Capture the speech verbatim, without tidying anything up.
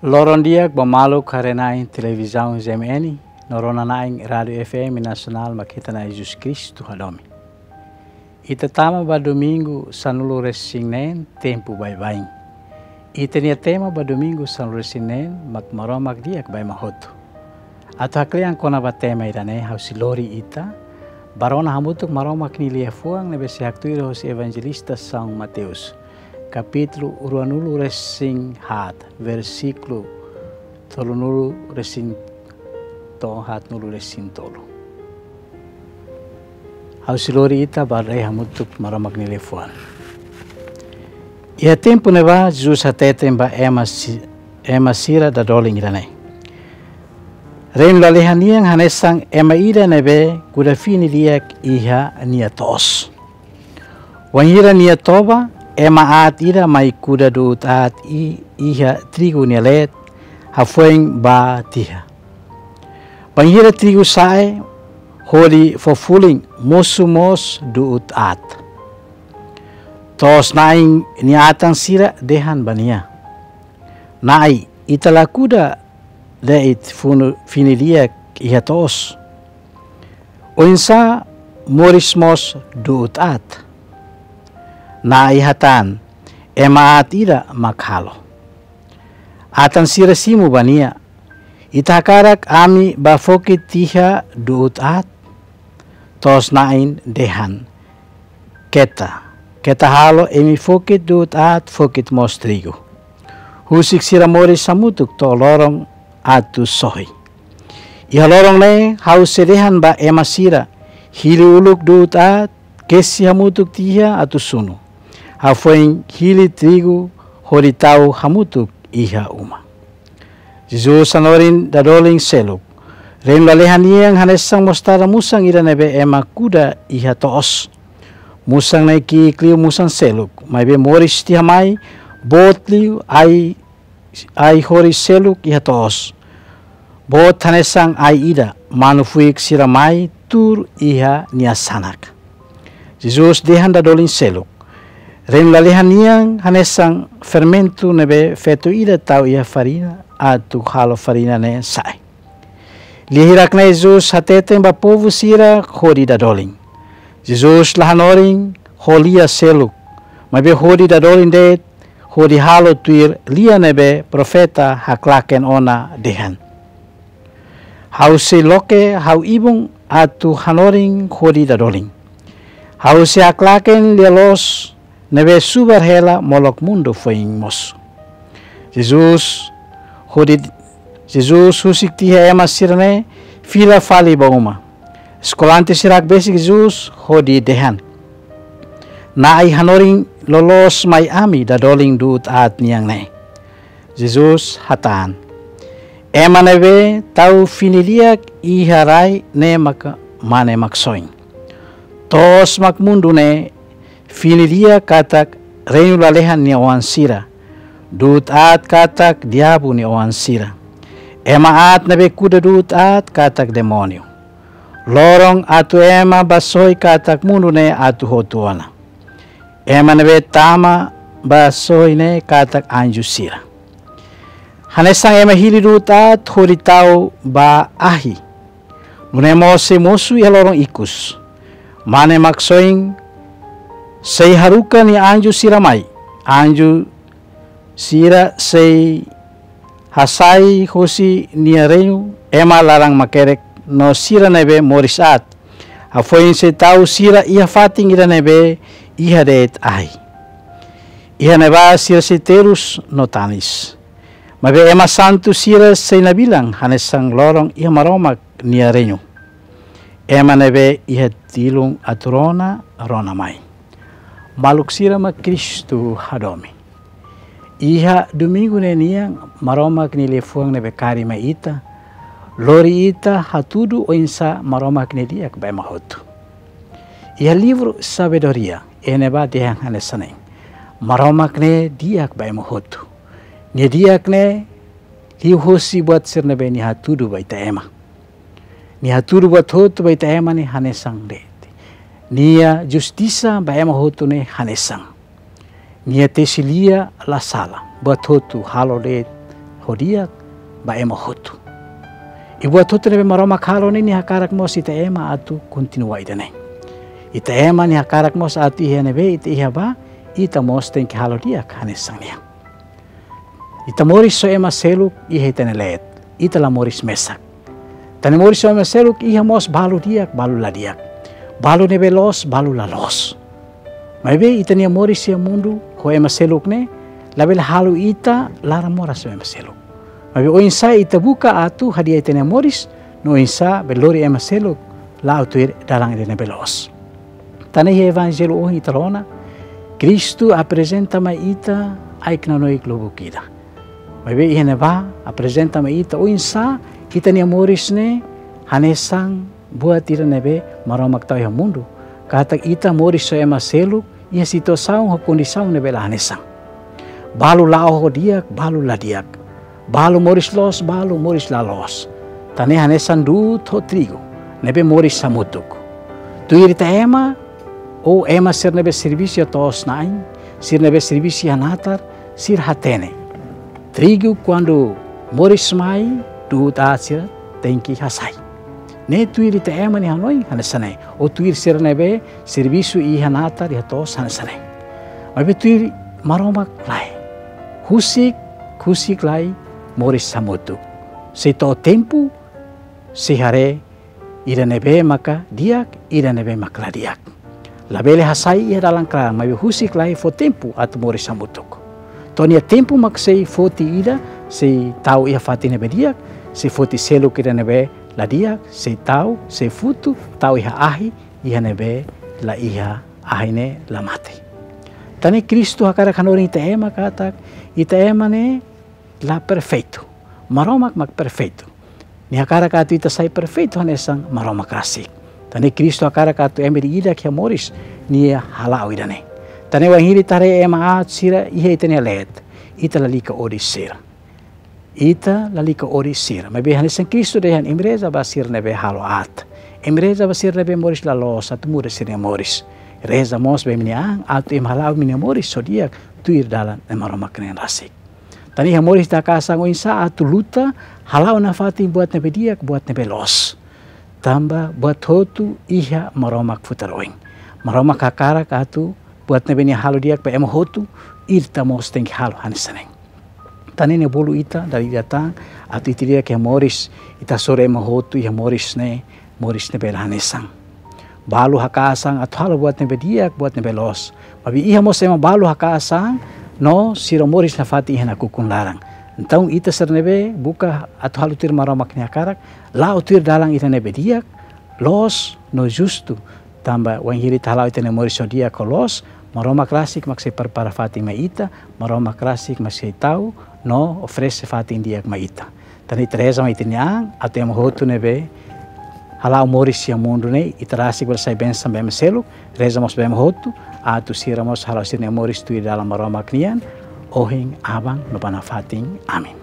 Loron di'ak ba maluk haree-na'in televizaun G M N, no rona-na'in Rádiu F M Nasionál Mak Ita Na'i Jesus Kristu Hadomi. Ita tama ba domingu sanulu-resin-neen, tempu baibain. Ita-nia tema ba domingu sanulu-resin-neen mak Maromak di'ak ba ema hotu. Atu haklean kona-ba tema ida-ne'e, ha'u sei lori ita ba rona hamutuk Maromak nia liafuan ne'ebé sei haktuir hosi Evanjelista São Mateus, kapítulu ruanulu-resin-haat, versíkulu tolunulu-resin to'o haatnulu-resin-tolu. Ha'u sei lori ita ba haree hamutuk Maromak nia liafuan. Iha tempu ne'ebá, Jesus hateten ba ema si-, ema sira dadolin ida-ne'e: Reinu lalehan nian hanesan ema ida ne'ebé kuda fini di'ak iha nia to'os. Wainhira nia toba, ema aat ida mai kuda du'ut aat i-, iha trigu nia leet, hafoin bá tiha. Bainhira trigu sa'e hodi fó fulin, mosu mós du'ut aat. To'os-na'in nia atan sira dehan ba nia: Na'i, ita la kuda de'it funu fini di'ak iha to'os. Oinsá moris mós du'ut aat? Na'i hatán: Ema aat ida mak halo. Atan sira simu ba nia: Ita hakarak ami bá fokit tiha du'ut aat? To'os-na'in dehan: Keta, keta halo imi fokit du'ut aat, fokit mós trigu. Husik sira moris hamutuk to'o loron atu sohi. Iha loron ne'e ha'u sei dehan ba ema sira: Hili uluk du'ut aat, kesi hamutuk tiha atu sunu. Hafoin hili trigu hodi tau hamutuk iha uma. Jesus hanorin dadolin seluk: Reinu lalehan nian hanesan mostarda musan ida ne'ebé ema kuda iha to'os. Musan ne'e ki'ik liu musan seluk, maibé moris tiha mai, boot liu ai, ai-horis seluk iha to'os. Boot hanesan ai ida, manu-fuik sira mai tuur iha nia sanak. Jesus dehan dadolin seluk: Reinu lalehan nian hanesan fermentu ne'ebé feto ida tau iha farina atu halo farina ne'e sa'e. Lia hirak-ne'e Jesus hateten ba povu sira hodi dadolin. Jesus la hanorin ho lia seluk, maibé hodi dadolin de'it, hodi halo tuir lia ne'ebé profeta haklaken ona dehan: Ha'u sei loke ha'u ibun atu hanorin hodi dadolin. Ha'u sei haklaken lia-loos ne'ebé subar hela molok mundu foin mosu. Jesus hodi, Jesus husik tiha ema sira-ne'e, fila fali ba uma. Eskolante sira hakbesik Jesus hodi dehan: Na'i, hanorin loloos mai ami dadolin du'ut aat nian ne'e. Jesus hatán: Ema ne'ebé tau fini di'ak iha rai ne'e maka Mane Maksoin. To'os mak mundu ne'e, fini di'ak katak reinu lalehan nia oan sira, du'ut aat katak diabu nia oan sira. Ema aat ne'ebé kuda du'ut aat katak demóniu. Loron atu ema bá sohi katak mundu ne'e atu hotu ona. Ema ne'ebé tama bá sohi ne'e katak anju sira. Hanesan ema hili du'ut aat hodi tau ba ahi, nune'e mós sei mosu iha loron ikus. Mane Maksoin sei haruka nia anju sira mai. Anju sira sei hasai hosi nia reinu ema laran makerek no sira ne'ebé moris aat. Hafoin sei tau sira iha fatin ida ne'ebé iha de'it ahi. Iha ne'ebá sira sei terus no tanis. Maibé ema santu sira sei nabilan hanesan loron iha Maromak nia reinu. Ema ne'ebé iha tilun atu rona, rona mai. Maluk sira mak Kristu hadomi. Iha domingu ne'e nian, Maromak nia liafuan ne'ebé karik mai ita, lori ita hatudu oinsá Maromak ne'e di'ak ba ema hotu. Iha livru Sabedoria, iha ne'ebá dehan hanesan ne'e: Maromak ne'e di'ak ba ema hotu. Nia di'ak ne'e liuhosi buat sira ne'ebé nia hatudu ba ita ema. Nia hatudu buat hotu ba ita ema ne'e hanesan de'it. Nia justisa ba ema hotu ne'e hanesan. Nia tesi lia la sala, buat hotu halo de'it ho di'ak ba ema hotu. I buat hotu ne'ebé Maromak halo ne'e, Nia hakarak mós ita ema atu kontinua ida-ne'e. Ita ema Nia hakarak mós atu iha ne'ebé ita iha ba, ita mós tenke halo di'ak hanesan Nia. Ita moris ho ema seluk iha ita-nia leet, ita la moris mesak. Ita-nia moris ho ema seluk iha mós balu di'ak, balu la di'ak. Balu ne'ebé loos, balu la loos. Maibé ita-nia moris iha mundu ho ema seluk ne'e labele halo ita laran moras ho ema seluk. Maibé oinsá ita buka atu hadi'a ita-nia moris, no oinsá bele lori ema seluk la'o tuir dalan ida ne'ebé loos. Tan ne'e iha evanjellu ohin ita rona, Kristu aprezenta mai ita ai-knanoik lubuk ida. Maibé iha ne'ebá aprezenta mai ita oinsá ita-nia moris ne'e hanesan buat ida ne'ebé Maromak tau iha mundu. Katak ita moris ho ema seluk iha situasaun ho kondisaun ne'ebé la hanesan. Balu la'o ho di'ak, balu la di'ak. Balu moris loos, balu moris la loos. Tan ne'e hanesan du'ut ho trigu ne'ebé moris hamutuk. Tuir ita ema, ou ema sira ne'ebé servisu iha to'os-na'in, sira ne'ebé servisu iha natar, sira hatene. Trigu kuandu moris mai, du'ut aat sira tenke hasai. Ne'e tuir ita ema nia hanoin hanesan ne'e. Ou tuir sira ne'ebé servisu iha natar, iha to'os hanesan ne'e. Maibé tuir Maromak lae. Husik, husik lai moris hamutuk. Sei to'o tempu, sei haree ida ne'ebé maka di'ak, ida ne'ebé maka la di'ak. Labele hasai iha dalan klaran, maibé husik lai fó tempu atu moris hamutuk. To'o nia tempu mak sei foti ida, sei tau iha fatin ne'ebé di'ak, sei foti seluk ida ne'ebé la di'ak, sei tau, sei futu, tau iha ahi, iha ne'ebé la iha ahi ne'e la mate. Tan ne'e Kristu hakarak hanorin ita ema katak, ita ema ne'e la perfeitu. Maromak mak perfeitu. Nia hakarak atu ita sai perfeitu hanesan Maromak rasik. Tan ne'e Kristu hakarak atu ema ida-idak iha moris nia hala'o ida-ne'e. Tan ne'e wainhira ita haree ema aat sira iha ita-nia leet, ita lalika odi sira. Ita lalika odi sira. Maibé hanesan Kristu dehan: Imi reza ba sira ne'ebé halo aat. Imi reza ba sira ne'ebé moris la loos atu muda sira-nia moris. Reza mós ba imi-nia an atu imi hala'o imi-nia moris ho di'ak tuir dalan Maromak nian rasik. Tan ne'e iha moris ita hakaas an oinsá atu luta, hala'o nafatin buat ne'ebé di'ak, buat ne'ebé loos. Tanba buat hotu iha Maromak futar oin. Maromak hakarak atu buat ne'ebé Nia halo di'ak ba ema hotu, ita mós tenke halo hanesan ne'e. Tan ne'e Nia bolu ita dala ida tan atu ita di'ak iha moris, ita hasoru ema hotu iha moris ne'e, moris ne'ebé la hanesan. Balu hakaas an atu halo buat ne'ebé di'ak, buat ne'ebé loos. Maibé iha mós ema balu hakaas an no sira moris nafatin iha nakukun laran. Entaun ita sira ne'ebé buka atu halo tuir Maromak nia hakarak, la'o tuir dalan ida ne'ebé di'ak, loos no justu. Tanba wainhira ita hala'o ita-nia moris ho di'ak ho loos, Maromak rasik mak sei prepara fatin mai ita, Maromak rasik mak sei tau no oferese fatin di'ak mai ita. Tan ne'e ita reza mai ita-nia an atu ema hotu ne'ebé hala'o moris iha mundu ne'e, ita rasik bele sai bensaun ba ema seluk. Reza mós ba ema hotu atu sira mós hala'o sira-nia moris tuir dalan Maromak nian, ohin, aban no ba nafatin. Amen.